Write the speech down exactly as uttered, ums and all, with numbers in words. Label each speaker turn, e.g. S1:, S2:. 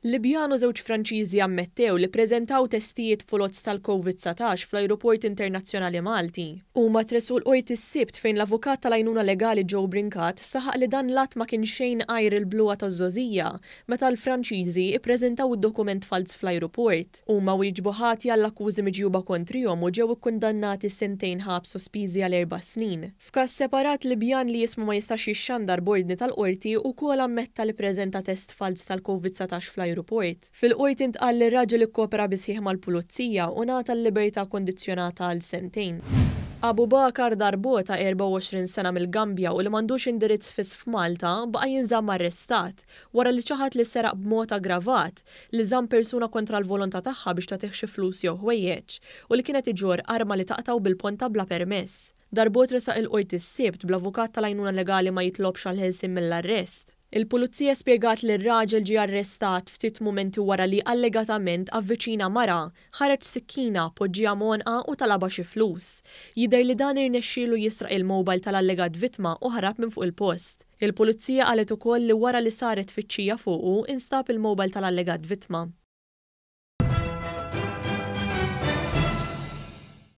S1: Libjan u żewġ Franċiżi ammettew li ppreżentaw testijiet foloz tal-Covid dsatax fl-Ajruport Internazzjonali Malti. Huma tressqu l-Qorti s-Sibt fejn l-avukat tal-għajnuna legali Joe Brincat saħaq li dan l-att ma kien xejn għajr il-bluha taż-żgħożija meta l-Franċiżi ippreżentaw id-dokument falz fl-ajruport. Huma wieġbu ħatja għall-akkużi miġjuba kontrihom u ġew ikkundannati sentejn ħabs sospiżi għal erba' snin. F'każ separat, Libjan li ismu ma jistax jixxandar b'ordni tal-Qorti ukoll ammetta li ppreżenta test falz tal-Covid dsatax fl-ajruport. Fil-qorti ntqal li r-raġel ikkopera bisħieħ mal-pulizija u ngħata l-libertà kondizzjonata għal sentejn. Abu Bakar Darbo ta' erbgħa u għoxrin sena mill-Gambja u li m'għandux indirizz fiss f'Malta baqa' jinżamm arrestat wara li ċaħad li seraq b'mod aggravat, li żamm persuna kontra l-volontà tagħha biex tagħtih xi flus jew ħwejjeġ u li kienet iġorr arma li taqtgħu bil-ponta bla permess. Darbo tresaq il-qorti s-Sibt bl-avukat tal-għajnuna legali ma jitlobx għal ħelsien mill-arrest. Il-pulizija spjegat li r-raġel ġie arrestat ftit mumenti wara li allegatament avviċina mara, ħareġ sikkina, poġġiha m'għonqha u talabha xi flus. Jidher li dan irnexxielu jisraq il-mobile tal-allegat vittma u ħarab minn fuq il-post. Il-pulizija qalet ukoll li wara li saret tfittxija fuqu instab il-mobile tal-allegat vittma.